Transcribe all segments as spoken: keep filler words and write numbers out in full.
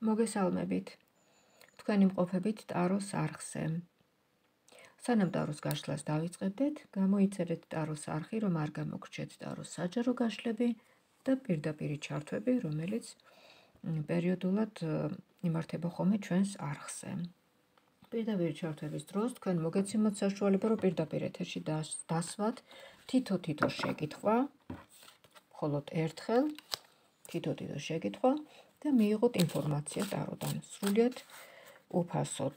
მოგესალმებით. თქვენი მყოფებით ტაროს არხზე. სანამ ტაროს გაშლას დავიწყებდეთ, გამოიწერეთ ტაროს არხი, რომ არ გამოგრჩეთ ტაროს საჯარო გაშლები და პირდაპირ ჩართვები, რომელიც პერიოდულად იმართება ხოლმე ჩვენს არხზე. პირდაპირ ჩართვების დროს თქვენ მოგეცემოთ საშუალება, რომ პირდაპირ ეთერში დასვათ თითო-თითო შეკითხვა, მხოლოდ ერთხელ თითო-თითო შეკითხვა და მიიღოთ ინფორმაცია ტაროდან სრულიად უფასოდ.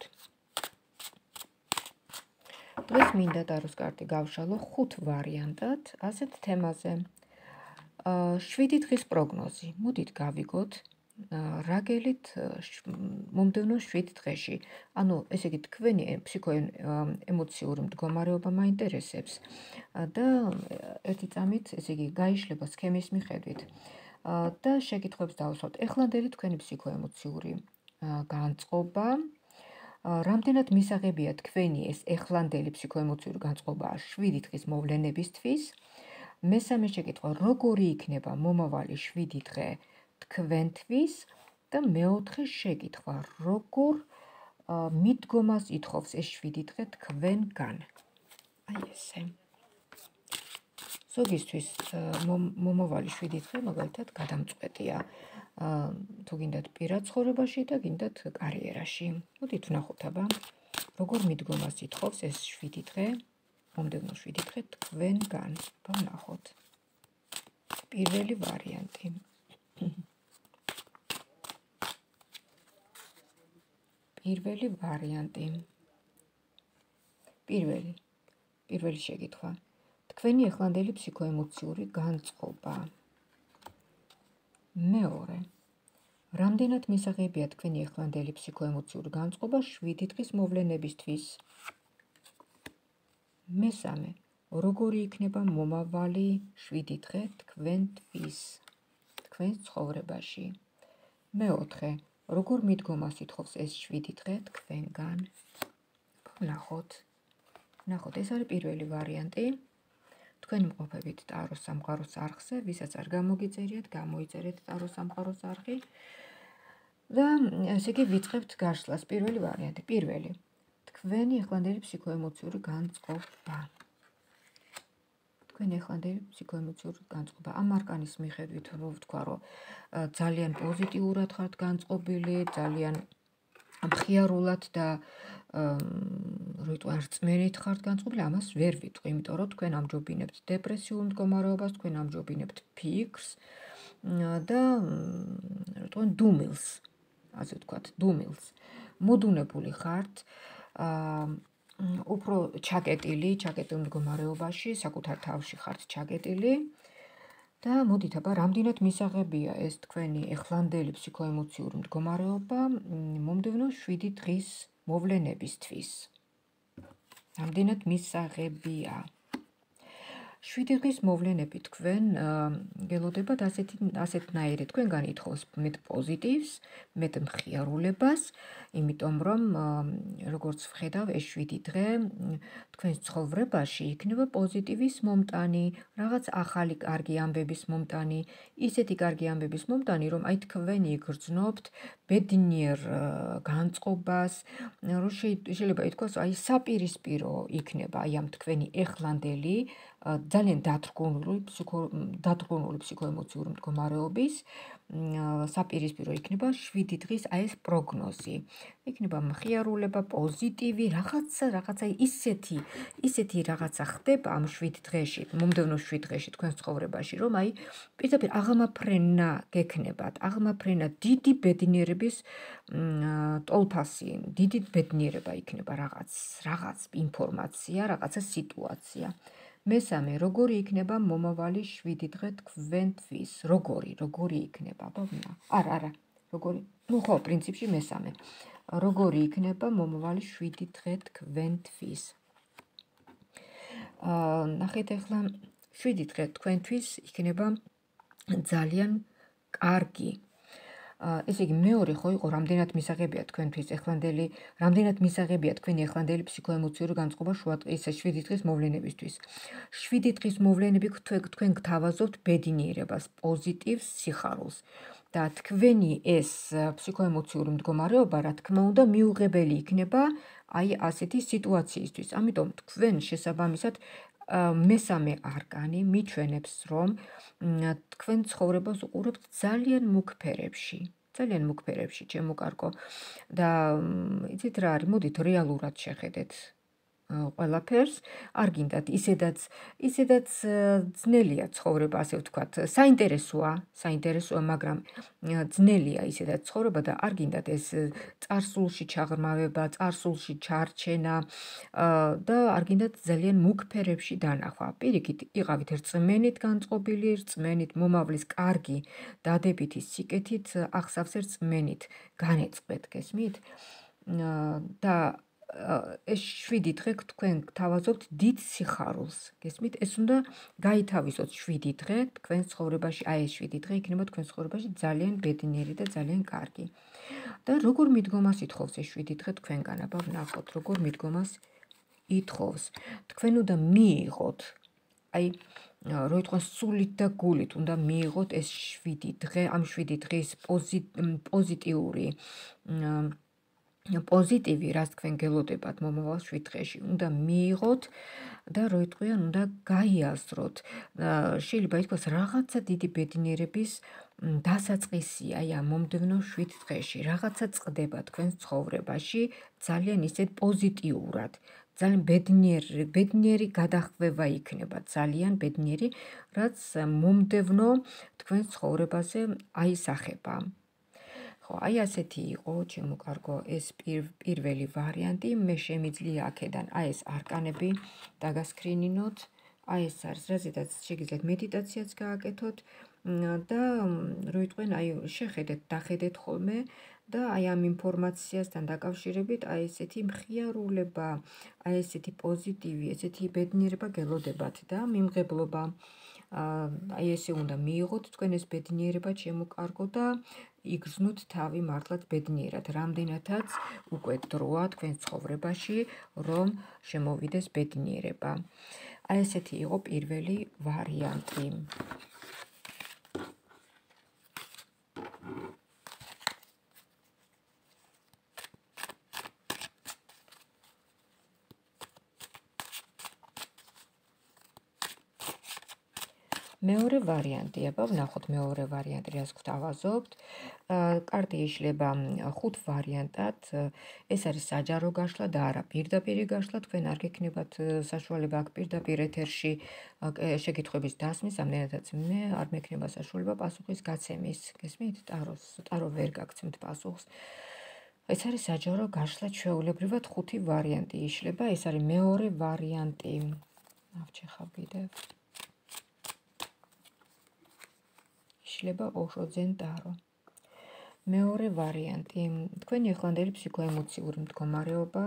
დღეს მინდა ტაროს კარტი გავშალო ხუთ ვარიანტად, ასეთ თემაზე. შვიდი დღის პროგნოზი. მოდით გავიგოთ, რა გელით მომდევნო შვიდ დღეში. ანუ, ესე იგი, თქვენი ფსიქოემოციური მდგომარეობა მაინტერესებს და ერთი წამით, ესე იგი, გაიშლება სქემის მიხედვით. და შეკითხვებს დავუსვათ. ეხლანდელი თქვენი ფსიქოემოციური განწყობა, რამდენად მისაღებია თქვენი ეს ეხლანდელი ფსიქოემოციური განწყობა შვიდი დღის მოვლენებისთვის. მესამე შეკითხვა, როგორი იქნება მომავალი შვიდი დღე თქვენთვის და მეოთხე შეკითხვა, როგორ მიდგომას ითხოვს ეს შვიდი დღე თქვენგან. აი ესე. ზოგისთვის მომავალი შვიდი დღე მაგალითად გადამწყვეტია, თუ გინდათ პირად ცხოვრებაში და გინდათ კარიერაში. მოდით ვნახოთ აბა, როგორ მიდგომას ითხოვს ეს შვიდი დღე, მომდევნო შვიდი დღე თქვენგან. აბა ვნახოთ. პირველი ვარიანტი. პირველი ვარიანტი. პირველი. პირველი შეკითხვა. თქვენი ეხლანდელი ფსიქოემოციური განწყობა. მეორე. რამდენად მისაღებია თქვენი ეხლანდელი ფსიქოემოციური განწყობა შვიდი დღის მოვლენებისთვის. მესამე. როგორი იქნება მომავალი შვიდი დღე თქვენთვის, თქვენს ცხოვრებაში. მეოთხე. როგორ მიდგომას ითხოვს ეს შვიდი დღე თქვენგან. ვნახოთ. ვნახოთ, ეს არის პირველი ვარიანტი. თქვენი მყოფებით ტაროს სამყაროს არხზე, ვისაც არ გამოგიწერიათ, გამოიწერეთ ტაროს სამყაროს არხი და ესე იგი ვიწყებთ გაშლას. პირველი ვარიანტი. პირველი. თქვენი ეხლანდელი ფსიქოემოციური განწყობა. თქვენი ეხლანდელი ფსიქოემოციური განწყობა. ამ არკანის მიხედვით რომ ვთქვა, რომ ძალიან პოზიტიურად ხართ განწყობილი, ძალიან მხიარულად და როიტყვი რწმენით ხართ განწყობილი, ამას ვერ ვიტყვი, იმიტომ რომ თქვენ ამჯობინებთ დეპრესიულ მდგომარეობას, თქვენ ამჯობინებთ ფიქრს და როიტყვი დუმილს, ასე ვთქვათ, დუმილს. მოდუნებული ხართ, უფრო ჩაკეტილი, ჩაკეტილ მდგომარეობაში, საკუთარ თავში ხართ ჩაკეტილი და მოდით აბა, რამდენად მისაღებია ეს თქვენი ეხლანდელი ფსიქოემოციური მდგომარეობა მომდევნო შვიდი დღის მოვლენებისთვის. რამდენად მისაღებია. შვიდი დღის მოვლენები თქვენ გელოდებათ ასეთნაირი, თქვენგან ითხოვს მეტ პოზიტივს, მეტ მხიარულებას, იმიტომ რომ როგორც ვხედავ, ეს შვიდი დღე თქვენს ცხოვრებაში იქნება პოზიტივის მომტანი, რაღაც ახალი კარგი ამბების მომტანი, ისეთი კარგი ამბების მომტანი, რომ აი თქვენი იგრძნობთ ბედნიერ განწყობას, რომ შეიძლება ითქვას, აი საპირისპირო იქნება აი ამ თქვენი ეხლანდელი ძალიან დათრგუნული ფსიქოემოციური მდგომარეობის საპირისპირო იქნება შვიდი დღის აი ეს პროგნოზი. იქნება მხიარულება, პოზიტივი, რაღაცა, რაღაცა ისეთი, ისეთი რაღაცა ხდება ამ შვიდ დღეში, მომდევნო შვიდ დღეში თქვენს ცხოვრებაში, რომ აი პირდაპირ აღმაფრენა გექნებათ, აღმაფრენა დიდი ბედნიერების ტოლფასი, დიდი ბედნიერება იქნება რაღაც, რაღაც ინფორმაცია, რაღაცა სიტუაცია. მესამე, როგორი იქნება მომავალი შვიდი დღე თქვენთვის? როგორი, როგორი იქნება? არა, არა, როგორი? ნუ ხო, პრინციპში მესამე. როგორი იქნება მომავალი შვიდი დღე თქვენთვის? ნახეთ ახლა, შვიდი დღე თქვენთვის იქნება ძალიან კარგი. ესე იგი, მეორე ხო იყო, რამდენად მისაღებია თქვენთვის ეხლანდელი, რამდენად მისაღებია თქვენი ეხლანდელი ფსიქოემოციური განწყობა ისე შვიდი დღის მოვლენებისთვის. შვიდი დღის მოვლენები თქვენ გთავაზობთ ბედნიერებას, პოზიტივს, სიხარულს. და თქვენი ეს ფსიქოემოციური მდგომარეობა, რა თქმა უნდა, მიუღებელი იქნება აი ასეთი სიტუაციისთვის. ამიტომ თქვენ შესაბამისად მესამე არკანი მიჩვენებს, რომ თქვენ ცხოვრებას უყურებთ ძალიან მუქ ფერებში. ძალიან მუქ ფერებში, ჩემო კარგო. და იცით რა არის, მოდით რეალურად შეხედეთ ყველაფერს, არ გინდათ ისედაც ისედაც ძნელია ცხოვრება, ასე ვთქვათ, საინტერესოა, საინტერესოა, მაგრამ ძნელია ისედაც ცხოვრება და არ გინდათ ეს წარსულში ჩაღრმავება, წარსულში ჩარჩენა და არ გინდათ ძალიან მუქ ფერებში დანახვა. პირიქით, იყავით რწმენით განწყობილი, რწმენით მომავლის კარგი დადებითი სიკეთით, ახსავსე რწმენით განეწყვეთ, გესმით? და ეს შვიდი დღე თქვენ გთავაზობთ დიდ სიხარულს, გესმით? ეს უნდა გაითავისოთ შვიდი დღე თქვენ ცხოვრებაში, აი ეს შვიდი დღე იქნება თქვენ ცხოვრებაში ძალიან ბედნიერი და ძალიან კარგი. და როგორ მიდგომას ითხოვს ეს შვიდი დღე თქვენგან, აბა ვნახოთ, როგორ მიდგომას ითხოვს. თქვენ უნდა მიიღოთ, აი რო იტყვას სულით და გულით უნდა მიიღოთ ეს შვიდი დღე, ამ შვიდი დღის პოზიტიური პოზიტივი, რაც თქვენ გელოდებათ მომავალ შვიდ დღეში, უნდა მიიღოთ და რო იტყვიან, უნდა გაიაზროთ. შეიძლება ითქვას რაღაცა დიდი ბედნიერების დასაწყისია აი ამ მომდევნო შვიდ დღეში, რაღაცა წყდება თქვენს ცხოვრებაში ძალიან ისეთ პოზიტიურად. ძალიან ბედნიერი, ბედნიერი გადახვევა იქნება, ძალიან ბედნიერი, რაც მომდევნო თქვენს ცხოვრებაზე აისახება. ხო, აი ასეთი იყო, ჩემო კარგო, ეს პირველი ვარიანტი, მე შემიძლია აქედან აი ეს არკანები დაგასკრინინოთ, აი ეს არის, რაზედაც შეგიძლიათ მედიტაციაც გააკეთოთ და რო იტყვენ, აი შეხედეთ, დახედეთ ხოლმე და აი ამ ინფორმაციასთან დაკავშირებით აი ესეთი მხიარულება, აი ესეთი პოზიტივი, ესეთი ბედნიერება გელოდებათ და მიმღებლობა. აი ესე უნდა მიიღოთ თქვენ ეს ბედნიერება, ჩემო კარგო, და იგრძნოთ თავი მართლაც ბედნიერად, რამდენადაც უკვე დროა თქვენ ცხოვრებაში, რომ შემოვიდეს ბედნიერება. აი ესეთი იყო პირველი ვარიანტი. მეორე ვარიანტი, აბა ვნახოთ მეორე ვარიანტი, რას გვთავაზობთ. კარტი იშლება ხუთ ვარიანტად. ეს არის საჯარო გაშლა და არა პირდაპირი გაშლა. თქვენ არ გექნებათ საშუალება აქ პირდაპირ ეთერში შეკითხვების დასმის, ამდენადაც მე არ მექნება საშუალება პასუხის გაცემის. გესმით? ტაროს, ტარო ვერ გაგცემთ პასუხს. ეს არის საჯარო გაშლა, ჩვეულებრივად ხუთი ვარიანტი იშლება. ეს არის მეორე ვარიანტი. ავჩეხავ კიდევ. იშლება ოშოძენ ტარო. მეორე ვარიანტი, თქვენი ახლანდელი ფსიქოემოციური მდგომარეობა.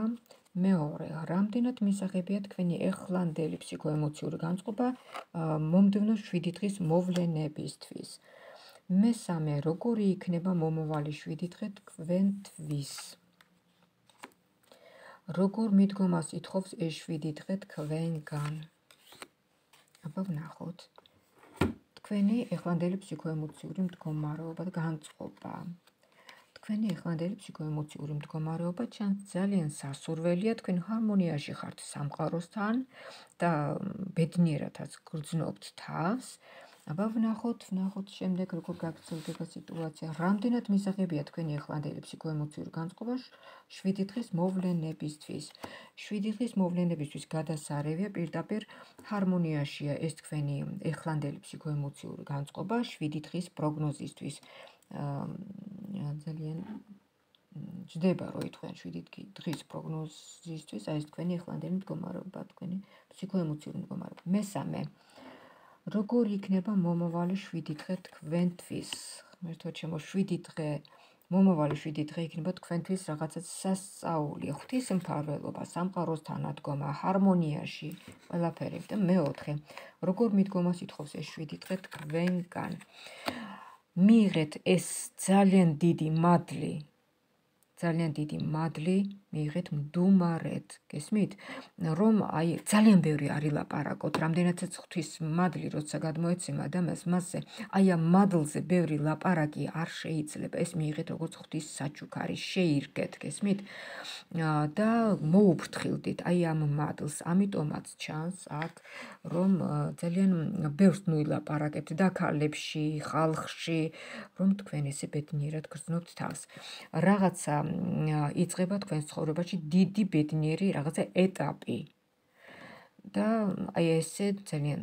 მეორე, რამდენად მისაღებია თქვენი ახლანდელი ფსიქოემოციური განწყობა მომდევნო შვიდი დღის მოვლენებისთვის. მესამე, როგორი იქნება მომავალი შვიდი დღე თქვენთვის. როგორ მიდგომას ითხოვს ეს შვიდი დღე თქვენგან. აბა ვნახოთ. თქვენი ახლანდელი ფსიქოემოციური მდგომარეობა და განწყობა. თქვენი ახლანდელი ფსიქოემოციური მდგომარეობა ჩანს ძალიან სასურველია, თქვენ ჰარმონიაში ხართ სამყაროსთან და ბედნიერათაც გრძნობთ თავს. აბა ვნახოთ, ვნახოთ შემდეგ როგორ გაგრძელდება სიტუაცია. რამდენად მისაღებია თქვენი ახლანდელი ფსიქოემოციური განწყობა შვიდი დღის მოვლენებისთვის. შვიდი დღის მოვლენებისთვის გადასარევია, პირდაპირ ჰარმონიაშია ეს თქვენი ახლანდელი ფსიქოემოციური განწყობა შვიდი დღის პროგნოზისთვის. ძალიან ჯდება, რო ითქვენ შვიდი დღის პროგნოზისთვის, აი ეს თქვენი ახლანდელი მდგომარეობა, თქვენი ფსიქოემოციური მდგომარეობა. მესამე, როგორი იქნება მომავალი შვიდი დღე თქვენთვის. ღმერთო ჩემო, შვიდი დღე, მომავალი შვიდი დღე იქნება თქვენთვის რაღაცა სასწაული, ღვთისმფარველობა, სამყაროსთან ადგომა, ჰარმონიაში, ყველაფერი. და მეოთხე, როგორ მიდგომას ითხოვს ეს შვიდი დღე თქვენგან. მიიღეთ ეს ძალიან დიდი მადლი, ძალიან დიდი მადლი მიიღეთ მდუმარეთ, გესმით? რომ აი ძალიან ბევრი არ ილაპარაკოთ, რამდენადაც ღვთის მადლი როცა გადმოეცემა ადამიანს, მასზე აი ამ მადლზე ბევრი ლაპარაკი არ შეიძლება. ეს მიიღეთ როგორც ღვთის საჩუქარი, შეირგეთ, გესმით? და მოუფრთხილდით აი ამ მადლს. ამიტომაც ჩანს აქ, რომ ძალიან ბევრს ნუ ილაპარაკებთ და ქალებში, ხალხში, რომ თქვენ ესე ბედნიერად გრძნობთ თავს. რაღაცა იწყება თქვენს ცხოვრებაში დიდი ბედნიერი რაღაცა ეტაპი. და აი ესე ძალიან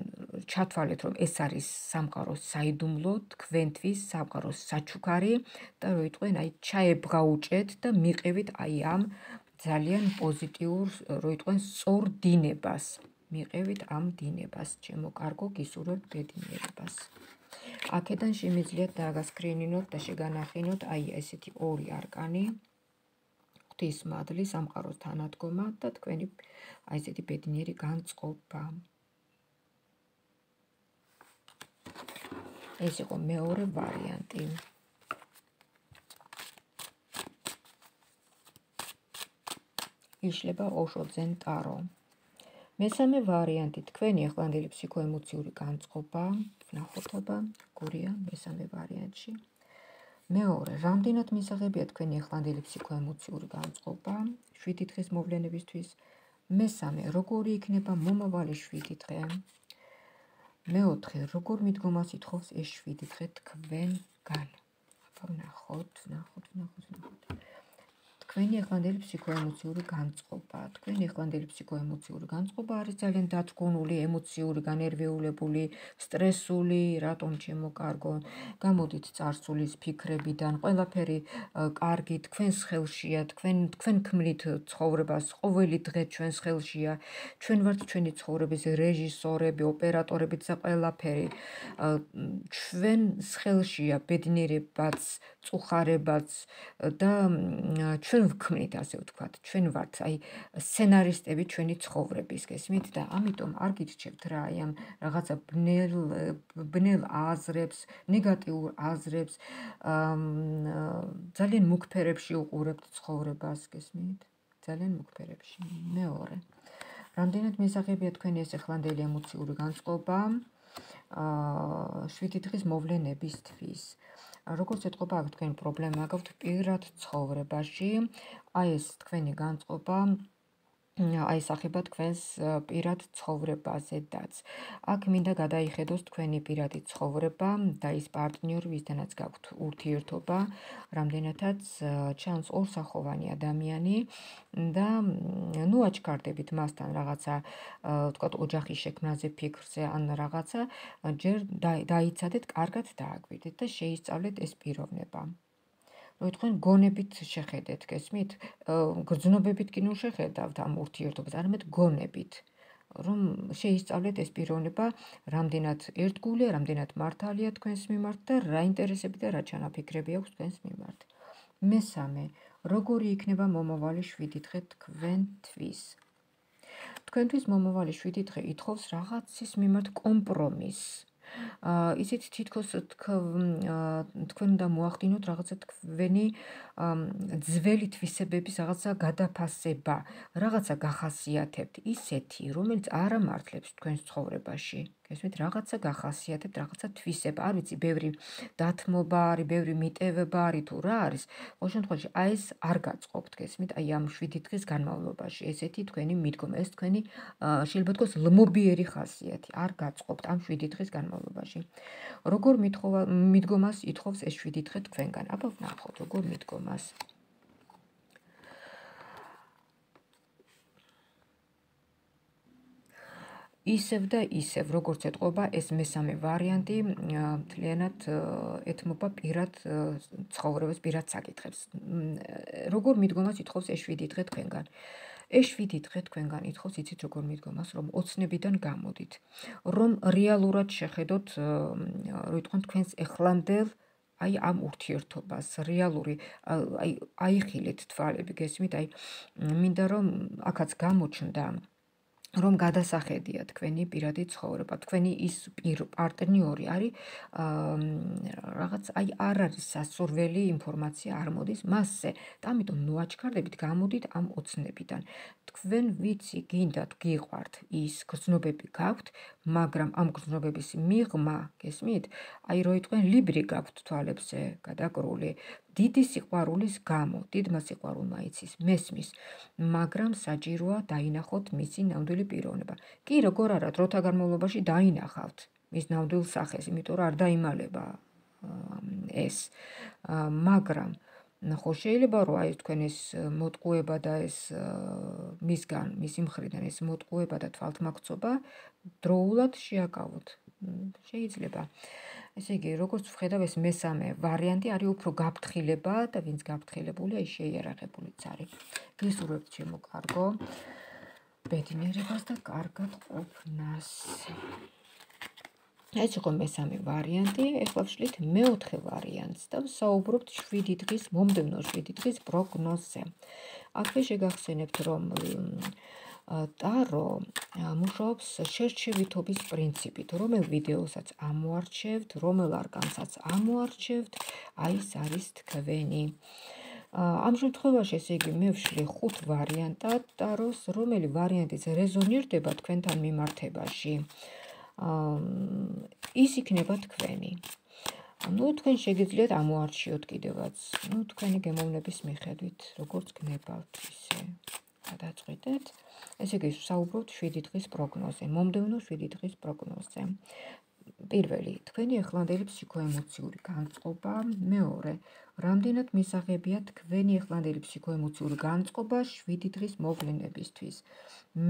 ჩათვალეთ, რომ ეს არის სამყაროს საიდუმლო, თქვენთვის სამყაროს საჩუქარი და როიტყვენ აი ჩაებღაუჭეთ და მიყევით აი ამ ძალიან პოზიტიურ, როიტყვენ სწორ დინებას. მიყევით ამ დინებას, ჩემო კარგო, გისურვებთ ბედნიერებას. აქედან შემიძლიათ დაგასკრინინოთ და შეგანახინოთ აი ესეთი ორი არკანი. ღვთის მადლი, სამყაროს თანადგომა და თქვენი აი ესეთი ბედნიერი განწყობა. ეს იყო მეორე ვარიანტი. იშლება ოშო ძენ ტარო. მესამე ვარიანტი, თქვენი ახლანდელი ფსიქოემოციური განწყობა, ნახოთ, გურია მესამე ვარიანტში. მეორე, რამდენად მისაღებია თქვენი ახლანდელი ფსიქოემოციური განწყობა შვიდი დღის მოვლენებისთვის. მესამე, როგორი იქნება მომავალი შვიდი დღე. მეოთხე, როგორ მიდგომას ითხოვს ეს შვიდი დღე თქვენგან. აბა ვნახოთ, ვნახოთ, ვნახოთ, ვნახოთ. თქვენი ახლანდელი ფსიქოემოციური განწყობა. თქვენი ახლანდელი ფსიქოემოციური განწყობა არის ძალიან დათგუნული, ემოციური, განერვიულებული, სტრესული, რატომ ჩემო კარგო, გამოდით წარსულის ფიქრებიდან, ყველაფერი კარგი თქვენს ხელშია, თქვენ თქვენ ქმნით ცხოვრებას, ყოველი დღე ჩვენს ხელშია, ჩვენ ვართ ჩვენი ცხოვრების რეჟისორები, ოპერატორები და ყველაფერი. ჩვენს ხელშია ბედნიერებაც, წუხარებაც და ჩვენ ვქმნით, ასე ვთქვათ, ჩვენ ვართ აი სცენარისტები ჩვენი ცხოვრების, გესმით? და ამიტომ არ გიჩნევთ რა აი ამ რაღაცა ბნელ ბნელ აზრებს, ნეგატიურ აზრებს, ძალიან მუქ ფერებში უყურებთ ცხოვრებას, გესმით? ძალიან მუქ ფერებში. მეორე, რამდენად მისაღებია თქვენი ეს ახლანდელი ემოციური განწყობა შვიდი დღის მოვლენებისთვის. როგორც ეთყობა აქ თქვენი პრობლემა გაქვთ პირად ცხოვრებაში, აი ეს თქვენი განწყობა აისახება თქვენს პირად ცხოვრებაზედაც. აქ მინდა გადაიხედოს თქვენი პირადი ცხოვრება და ის პარტნიორი, ვისთანაც გაქვთ ურთიერთობა, რამდენადაც ჩანს ორსახოვანი ადამიანი და ნუ აჩქარდებით მასთან რაღაცა, ვთქვათ, ოჯახის შექმნაზე ფიქრზე ან რაღაცა, ჯერ დაიცადეთ, კარგად დააკვირდეთ და შეისწავლეთ ეს პიროვნება. რომ თქვენ გონებით შეხედეთ, გესმით? გრძნობებით კი ნუ შეხედავთ ამ ურთიერთობას, არამედ გონებით, რომ შეისწავლეთ ეს პიროვნება, რამდენად ერთგულია, რამდენად მართალია თქვენს მიმართ და რა ინტერესები და რა ჩანაფიქრები აქვს თქვენს მიმართ. მესამე, როგორი იქნება მომავალი შვიდი დღე თქვენთვის. თქვენთვის მომავალი შვიდი დღე ითხოვს რაღაცის მიმართ კომპრომისს. ისიც თითქოს თქვენ უნდა მოახდინოთ რაღაცა თქვენი ძველი თვისებების რაღაცა გადაფასება, რაღაცა გახასიათებთ, ისეთი, რომელიც არ ამართლებს თქვენს ცხოვრებაში. გესმით, რაღაცა გახასიათებთ, რაღაცა თვისება, არ ვიცი, ბევრი დათმობა არის, ბევრი მიტევება არის თუ რა არის. ყოველ შემთხვევაში, აი ეს არ გაწყობთ, გესმით, აი ამ შვიდი დღის განმავლობაში, ესეთი თქვენი მიდგომა, ეს თქვენი შეიძლება თქვას ლმობიერი ხასიათი, არ გაწყობთ ამ შვიდი დღის განმავლობაში. როგორ მიდგომას ითხოვს ეს შვიდი დღე თქვენგან? აბა ვნახოთ, როგორ მიდგომას. ისევ და ისევ, როგორც ეთყობა, ეს მესამე ვარიანტი მთლიანად ეთმობა პირად ცხოვრებას, პირად საკითხებს. როგორ მიდგომას ითხოვს ეს შვიდი დღე თქვენგან? ეს შვიდი დღე თქვენგან ითხოვს, იცით როგორ მიდგომას, რომ ოცნებიდან გამოდით, რომ რეალურად შეხედოთ, რომ იტყვან თქვენს ახლანდელ აი ამ ურთიერთობას, რეალური, აი აიხილეთ თვალები, გესმით, აი მინდა რომ აქაც გამოჩნდა რომ გადასახედია თქვენი პირადი ცხოვრება, თქვენი ის პარტნიორი არის რაღაც აი არ არის სასურველი ინფორმაცია არ მოდის მასზე და ამიტომ ნუაჩქარდებით გამოდით ამ ოცნებიდან. თქვენ ვიცი გინდათ გიყვართ ის გრძნობები გაქვთ, მაგრამ ამ გრძნობების მიღმა, გესმით? აი რო იტყვენ ლიბრი გაქვთ თვალებზე გადაკრული, დიდი სიყვარულის გამო, დიდმა სიყვარულმა იცის მესმის, მაგრამ საჭიროა დაინახოთ მისი ნამდვილი პიროვნება. კი, როგორ არა, დროთა განმავლობაში დაინახავთ მის ნამდვილ სახეს, იმიტომ რომ არ დაიმალება ეს, მაგრამ ხო შეიძლება რომ აი თქვენ ეს მოტყუება და ეს მისგან, მისი მხრიდან ეს მოტყუება და თვალთმაქცობა დროულად შეაკავოთ. შეიძლება. ესე იგი, როგორც ვხედავ, ეს მესამე ვარიანტი არის უფრო გაფრთხილება და ვინც გაფრთხილებულია, ის შეიარაღებულიც არის. გისურვებთ ჩემო კარგო ბედნიერებას და კარგად ყოფნას. ეს იყო მესამე ვარიანტი, ეხლა ვშლით მეოთხე ვარიანტს და ვსაუბრობთ შვიდი დღის, მომდევნო შვიდი დღის პროგნოზზე. აქვე შეგახსენებთ, რომ ტარო მუშაობს შერჩევითობის პრინციპით, რომელ ვიდეოსაც ამოარჩევთ, რომელ არკანსაც ამოარჩევთ, აი ეს არის თქვენი. ამ შემთხვევაში, ესე იგი, მე ვშლი ხუთ ვარიანტად ტაროს, რომელი ვარიანტიც რეზონირდება თქვენთან მიმართებაში. ის იქნება თქვენი. ნუ თქვენ შეგიძლიათ ამოარჩიოთ კიდევაც, ნუ თქვენი გემოვნების მიხედვით, როგორც გნებავთ, ისე გადაწყვეტეთ. ესე იგი, ვსაუბრობთ შვიდი დღის პროგნოზზე, მომდევნო შვიდი დღის პროგნოზზე. პირველი, თქვენი ახლანდელი ფსიქოემოციური განწყობა, მეორე, რამდენად მისაღებია თქვენი ახლანდელი ფსიქოემოციური განწყობა შვიდი დღის მოვლენებისთვის.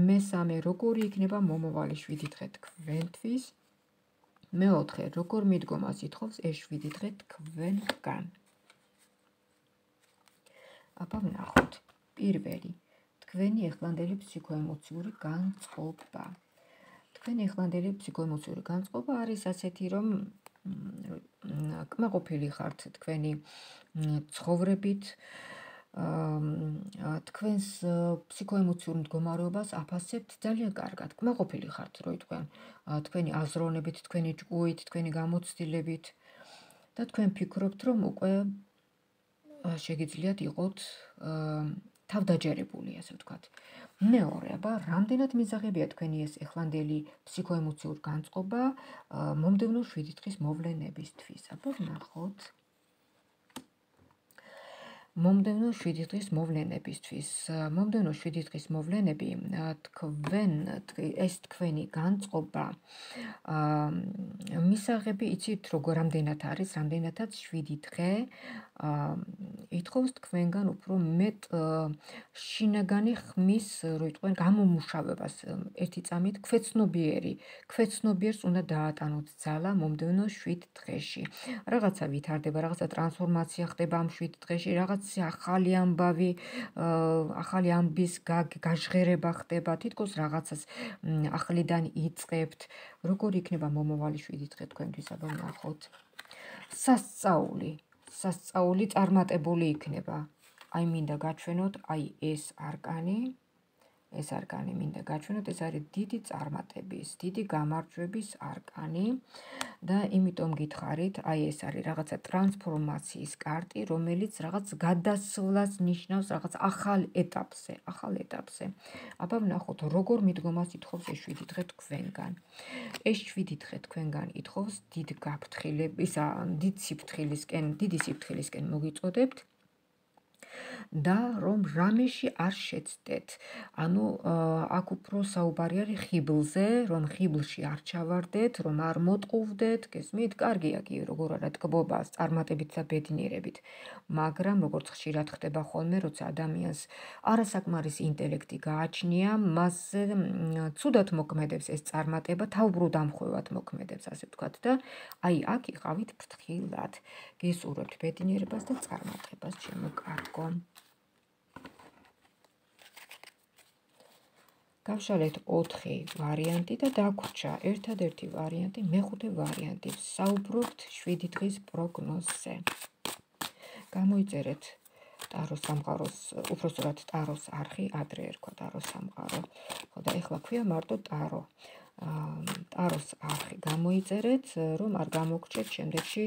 მესამე, როგორი იქნება მომავალი შვიდი დღე თქვენთვის. მეოთხე, როგორ მიდგომას ითხოვს ეს შვიდი დღე თქვენგან. აბა ვნახოთ. პირველი, თქვენი ახლანდელი ფსიქოემოციური განწყობა. თქვენი ახლანდელი ფსიქოემოციური განწყობა არის ასეთი, რომ კმაყოფილი ხართ თქვენი ცხოვრებით, თქვენს ფსიქოემოციურ მდგომარეობას აფასებთ ძალიან კარგად. კმაყოფილი ხართ, რო იტყვიან, თქვენი აზროვნებით, თქვენი ჭკუით, თქვენი გამოცდილებით და თქვენ ფიქრობთ, რომ უკვე შეგიძლიათ იყოთ თავდაჯერებული, ასე ვთქვათ. მეორე, აბა, რამდენად მისაღებია თქვენი ეს ახლანდელი ფსიქოემოციური განწყობა მომდევნო შვიდი დღის მოვლენებისთვის. აბა ვნახოთ. მომდევნო შვიდი დღის მოვლენებისთვის. მომდევნო შვიდი დღის მოვლენები თქვენ ეს თქვენი განწყობა მისაღები იცით როგორ რამდენად არის, რამდენადაც შვიდი დღე ითხოვს თქვენგან უფრო მეტ შინაგანი ხმის, რო იტყვენ, გამომუშავებას ერთი წამით ქვეცნობიერი, ქვეცნობიერს უნდა დაატანოთ ძალა მომდევნო შვიდ დღეში. რაღაცა ვითარდება, რაღაცა ტრანსფორმაცია ხდება ამ შვიდ დღეში, რაღაც ახალი ამბავი, ახალი ამბის გაჟღერება ხდება, თითქოს რაღაცას ახლიდან იწყებთ. როგორი იქნება მომავალი შვიდი დღე თქვენთვის, აბა ვნახოთ. სასწაული, სასწაული წარმატებული იქნება. აი მინდა გაჩვენოთ, აი ეს არკანი, ეს არკანი მინდა გაჩვენოთ, ეს არის დიდი წარმატების, დიდი გამარჯვების არკანი და იმიტომ გითხარით, აი ეს არის რაღაცა ტრანსფორმაციის კარტი, რომელიც რაღაც გადასვლას ნიშნავს, რაღაც ახალ ეტაპზე, ახალ ეტაპზე. აბა ვნახოთ, როგორ მიდგომას ითხოვს ეს შვიდი დღე თქვენგან. ეს შვიდი დღე თქვენგან ითხოვს დიდ გაფრთხილების, დიდ სიფრთხილისკენ, დიდი სიფრთხილისკენ მოგიწოდებთ. და რომ რამეში არ შეცდეთ. ანუ აქ უფრო საუბარი არის ხიბლზე, რომ ხიბლში არ ჩავარდეთ, რომ არ მოტყუვდეთ, გესმით? კარგია კი, როგორ არა ტკბობა წარმატებით და ბედნიერებით. მაგრამ როგორც ხშირად ხდება ხოლმე, როცა ადამიანს არასაკმარის ინტელექტი გააჩნია, მასზე ცუდად მოქმედებს ეს წარმატება, თავბრუ დამხვევად მოქმედებს, ასე ვთქვათ და აი აქ იყავით ფრთხილად. გისურვებთ ბედნიერებას და წარმატებას, ჩემო კარგო. გავშალეთ ოთხი ვარიანტი და დაგვრჩა ერთადერთი ვარიანტი, მეხუთე ვარიანტი. ვსაუბრობთ შვიდი დღის პროგნოზზე. გამოიწერეთ ტაროს სამყაროს, უпроსტად ტაროს არხი ადრე ერქვა ტაროს სამყარო. ხო და ეხლა ქვია მარტო ტარო. ტაროს არხი გამოიწერეთ, რომ არ გამოგრჩეთ შემდეგში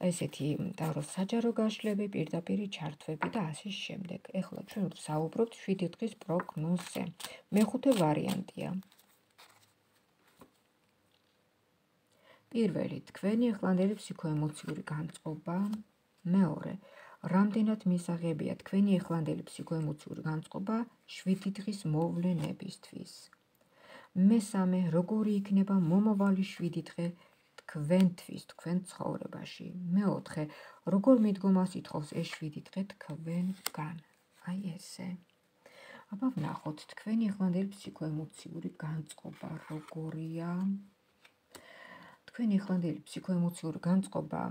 ესეთი ტაროს საჯარო გაშლები, პირდაპირი ჩართვები და ასე შემდეგ. ეხლა ჩვენ ვსაუბრობთ შვიდი დღის პროგნოზზე. მეხუთე ვარიანტია. პირველი, თქვენი ახლანდელი ფსიქოემოციური განწყობა. მეორე, რამდენად მისაღებია თქვენი ახლანდელი ფსიქოემოციური განწყობა შვიდი დღის მოვლენებისთვის. მესამე, როგორი იქნება მომავალი შვიდი დღე თქვენთვის, თქვენ ცხოვრებაში. მეოთხე, როგორ მიდგომას ითხოვს ეს შვიდი დღე თქვენგან. აი ესე. აბა ვნახოთ, თქვენი ახლანდელი ფსიქოემოციური განწყობა როგორია. თქვენი ახლანდელი ფსიქოემოციური განწყობა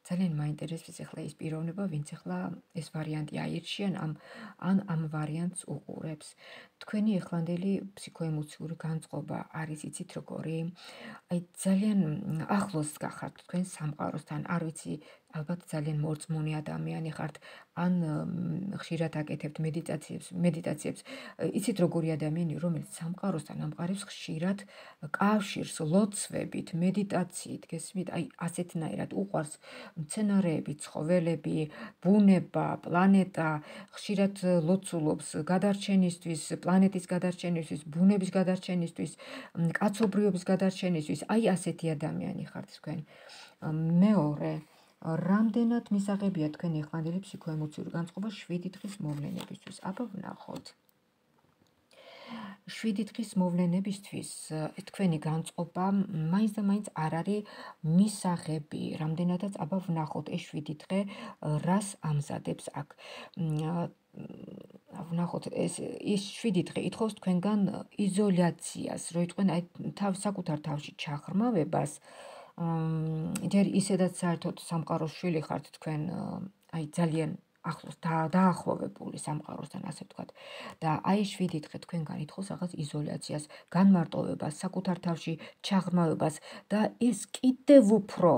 ძალიან მაინტერესებს ახლა ის პიროვნება, ვინც ახლა ეს ვარიანტი აირჩიან ამ ან ამ ვარიანტს უყურებს. თქვენი ახლანდელი ფსიქოემოციური განწყობა არის იცით როგორი? აი ძალიან ახლოს გახართ თქვენ სამყაროსთან, არ ვიცი, ალბათ ძალიან მორწმუნე ადამიანი ხართ, ან ხშირად აკეთებთ მედიტაციებს, მედიტაციებს. იცით როგორი ადამიანი, რომელიც სამყაროსთან ამყარებს ხშირად კავშირს ლოცვებით, მედიტაციით, გესმით? აი ასეთნაირად უყვარს მცენარეები, ცხოველები, ბუნება, პლანეტა, ხშირად ლოცულობს გადარჩენისთვის, პლანეტის გადარჩენისთვის, ბუნების გადარჩენისთვის, კაცობრიობის გადარჩენისთვის. აი ასეთი ადამიანი ხართ თქვენ. მეორე, რამდენად მისაღებია თქვენი ახლანდელი ფსიქოემოციური განწყობა შვიდი დღის მოვლენებისთვის. აბა ვნახოთ. შვიდი დღის მოვლენებისთვის თქვენი განწყობა მაინც და მაინც არ არის მისაღები. რამდენადაც აბა ვნახოთ ეს შვიდი დღე რას ამზადებს აქ. ვნახოთ ეს ის შვიდი დღე ითხოვს თქვენგან იზოლაციას, რომ იტყვენ აი თავ საკუთარ თავში ჩაღრმავებას. ჯერ ისედაც საერთოდ სამყაროს შვილი ხართ თქვენ, აი ძალიან ახლოს დაახლოვებული სამყაროსთან, ასე ვთქვათ. და აი შვიდი დღე თქვენგან ითხოვს რაღაც იზოლაციას, განმარტოვებას, საკუთარ თავში ჩაღრმავებას და ეს კიდევ უფრო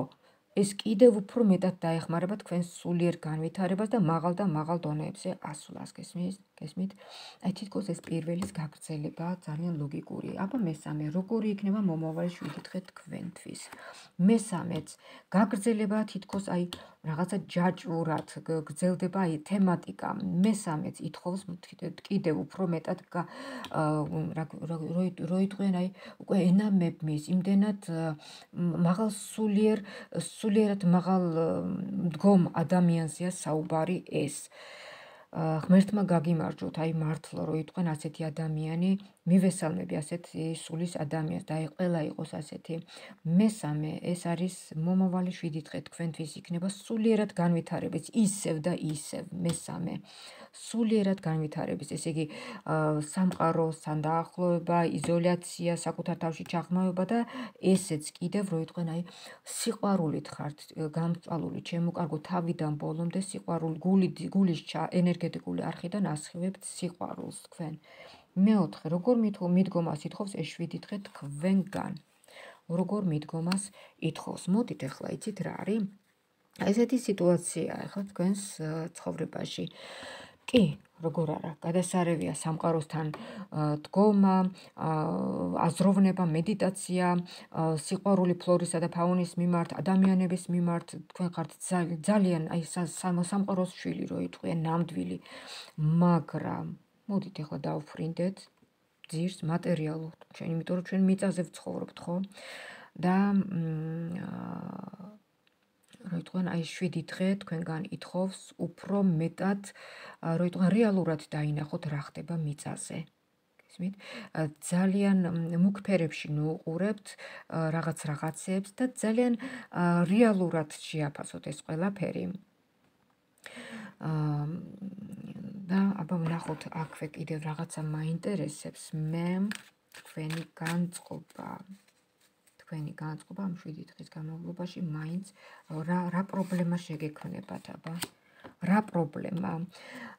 ეს კიდევ უფრო მეტად დაეხმარება თქვენს სულიერ განვითარებას და მაღალ და მაღალ დონეებზე ასვლას. გესმის? გესმით? აი თითქოს ეს პირველის გაგრძელება ძალიან ლოგიკური. აბა მესამე, როგორი იქნება მომავალი შვიდი დღე თქვენთვის. მესამეც, გაგრძელება თითქოს აი რაღაცა ჯაჭვურად გრძელდება აი თემატიკა. მესამეც ითხოვს კიდევ უფრო მეტად რო იტყვიან აი უკვე ენა მებმის, იმდენად მაღალ სულიერ სულიერად მაღალ მდგომ ადამიანზეა საუბარი ეს. ღმერთმა გაგიმარჯვოთ, აი მართლა რო იტყვენ ასეთი ადამიანი, მივესალმები ასეთი სულის ადამიანს და აი ყველა იყოს ასეთი. მესამე, ეს არის მომავალი შვიდი დღე თქვენთვის იქნება სულიერად განვითარების, ისევ და ისევ. მესამე, სულიერად განვითარების, ესე იგი სამყაროსთან დაახლოება, იზოლაცია, საკუთარ თავში ჩაღრმავება და ესეც კიდევ რო იტყვენ აი სიყვარულით ხართ გამწვალული, ჩემო კარგო, თავიდან ბოლომდე სიყვარული, გულის ენერგეტიკული არხიდან ასხივებთ სიყვარულს თქვენ. მეოთხე, როგორ მიდგომას ითხოვს ეს შვიდი დღე თქვენგან. როგორ მიდგომას ითხოვს. მოდით ახლა იცით რა არის? ესეთი სიტუაცია ახლა თქვენს ცხოვრებაში. კი, როგორ არა, გადასარევია სამყაროსთან დგომა, აზროვნება, მედიტაცია, სიყვარული ფლორისა და ფაუნის მიმართ, ადამიანების მიმართ, თქვენ ხართ ძალიან აი სამყაროს შვილი რო იტყვიან, ნამდვილი, მაგრამ მოდით ახლა დავფრინდეთ ძირს მატერიალურ, ჩვენ იმიტომ რომ ჩვენ მიწაზე ვცხოვრობთ, ხო? და რო იტყვიან აი შვიდი დღე თქვენგან ითხოვს უფრო მეტად, რო იტყვიან რეალურად დაინახოთ რა ხდება მიწაზე. გესმით? ძალიან მუქ ფერებში ნუყურებთ რაღაც რაღაცებს და ძალიან რეალურად შეაფასოთ ეს ყველაფერი. და აბა ვნახოთ აქვე კიდევ რაღაცა მაინტერესებს მე თქვენი განწყობა. თქვენი განწყობა ამ შვიდი დღის განმავლობაში მაინც რა რა პრობლემა შეგექმნებათ, აბა რა პრობლემა?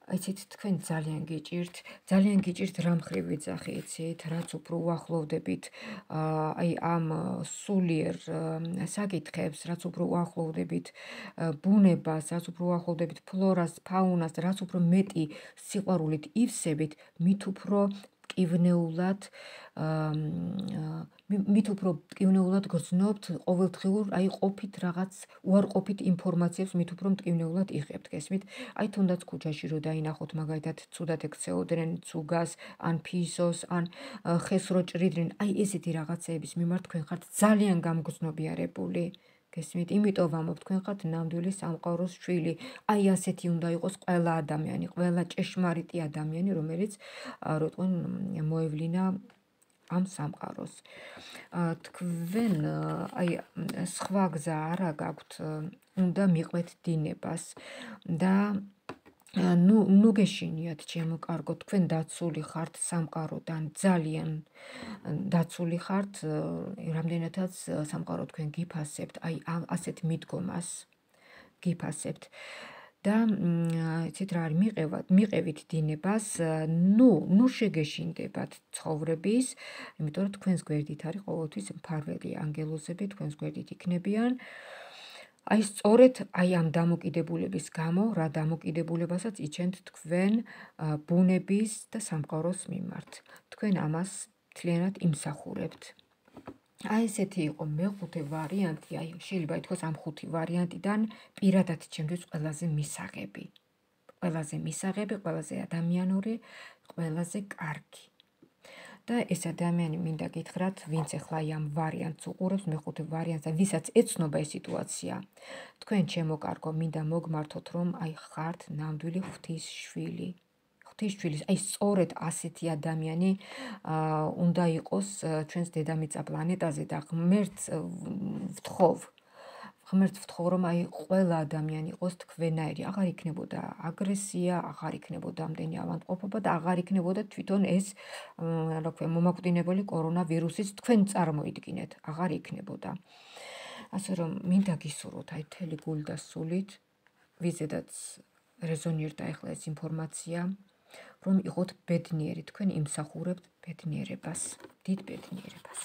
იცით, თქვენ ძალიან გიჭირთ, ძალიან გიჭირთ რა მხრივ ვიძახი, იცით, რაც უფრო უახლოვდებით აი ამ სულიერ საკითხებს, რაც უფრო უახლოვდებით ბუნებას, რაც უფრო უახლოვდებით ფლორას, ფაუნას, რაც უფრო მეტი სიყვარულით ივსებით, მით უფრო მტკივნეულად მით უფრო მტკივნეულად გრძნობთ ყოველდღიურ აი ყოფით რაღაც უარყოფით ინფორმაციებს მით უფრო მტკივნეულად იღებთ, გესმით? აი თუნდაც ქუჩაში რო დაინახოთ მაგალითად ცუდად ექცეოდნენ ცუგას, ან ფისოს, ან ხეს რო ჭრიდნენ, აი ესეთი რაღაცეების მიმართ თქვენ ხართ ძალიან გამგრძნობიარებული. გესმით? იმიტომ ვამბობ, თქვენ ხართ ნამდვილი სამყაროს შვილი. აი ასეთი უნდა იყოს ყველა ადამიანი, ყველა ჭეშმარიტი ადამიანი, რომელიც რო თქვენ მოევლინა ამ სამყაროს. თქვენ აი სხვა გზა არა გაქვთ, უნდა მიყვეთ დინებას და ნუ ნუ გეშინიათ ჩემო კარგო, თქვენ დაცული ხართ სამყაროდან, ძალიან დაცული ხართ, რამდენადაც სამყარო თქვენ გიფასებთ, აი ასეთ მიდგომას გიფასებთ. და იცით რა არის, მიყევათ, მიყევით დინებას, ნუ ნუ შეგეშინდებათ ცხოვრების, იმიტომ რომ თქვენს გვერდით არის ყოველთვის მფარველი ანგელოზები, თქვენს გვერდით იქნებიან. აი სწორედ აი ამ დამოკიდებულების გამო, რა დამოკიდებულებასაც იჩენთ თქვენ ბუნების და სამყაროს მიმართ. თქვენ ამას მთლიანად იმსახურებთ. აი ესეთი იყო მეხუთე ვარიანტი, აი შეიძლება ითქვას ამ ხუთი ვარიანტიდან პირადად ჩემთვის ყველაზე მისაღები. ყველაზე მისაღები, ყველაზე ადამიანური, ყველაზე კარგი. და ეს ადამიანი მინდა გითხრათ, ვინც ახლა ამ ვარიანტს უყურებს, მეხუთე ვარიანტს და ვისაც ეცნობა ეს სიტუაცია, თქვენ ჩემო კარგო, მინდა მოგმართოთ, რომ აი ხართ ნამდვილი ღვთის შვილი. ღვთის შვილი, აი სწორედ ასეთი ადამიანი უნდა იყოს ჩვენს დედამიწა პლანეტაზე და ღმერთს ვთხოვ, ღმერთს ვთხოვ, რომ აი ყველა ადამიანი იყოს თქვენაირი, აღარ იქნებოდა აგრესია, აღარ იქნებოდა ამდენი ავადმყოფობა და აღარ იქნებოდა თვითონ ეს რა ქვია მომაკვდინებელი კორონავირუსიც თქვენ წარმოიდგინეთ, აღარ იქნებოდა. ასე რომ მინდა გისურვოთ აი მთელი გული და სულით, ვიზედაც რეზონირდა ახლა ეს ინფორმაცია, რომ იყოთ ბედნიერი, თქვენ იმსახურებთ ბედნიერებას, დიდ ბედნიერებას.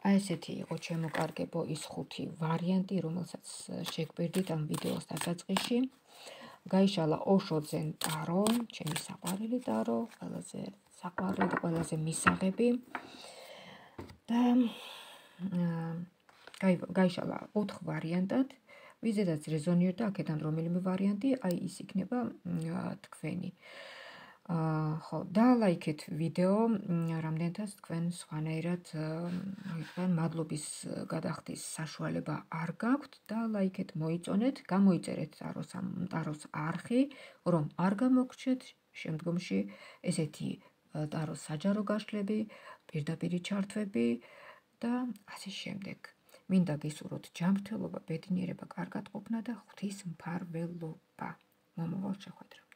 აი ესეთი იყო ჩემო კარგებო ის ხუთი ვარიანტი, რომელსაც შეგვერდით ამ ვიდეოს დასაწყისში. გაიშალა ოშოძენ ტარო, ჩემი საყვარელი ტარო, ყველაზე საყვარელი და ყველაზე მისაღები. და გაიშალა ოთხ ვარიანტად. ვიზედაც რეზონირდა აქედან რომელიმე ვარიანტი, აი ის იქნება თქვენი. ხო, დალაიქეთ ვიდეო, რამდენადაც თქვენ სხვანაირად მადლობის გადახდის საშუალება არ გაქვთ, დალაიქეთ, მოიწონეთ, გამოიწერეთ ტაროს არხი, რომ არ გამოგრჩეთ შემდგომში ესეთი ტაროს საჯარო გაშლები, პირდაპირი ჩართვები და ასე შემდეგ. მინდა გისურვოთ ჯანმრთელობა, ბედნიერება, კარგად ყოფნა და ღვთის მფარველობა. მომავალ შეხვედრამდე.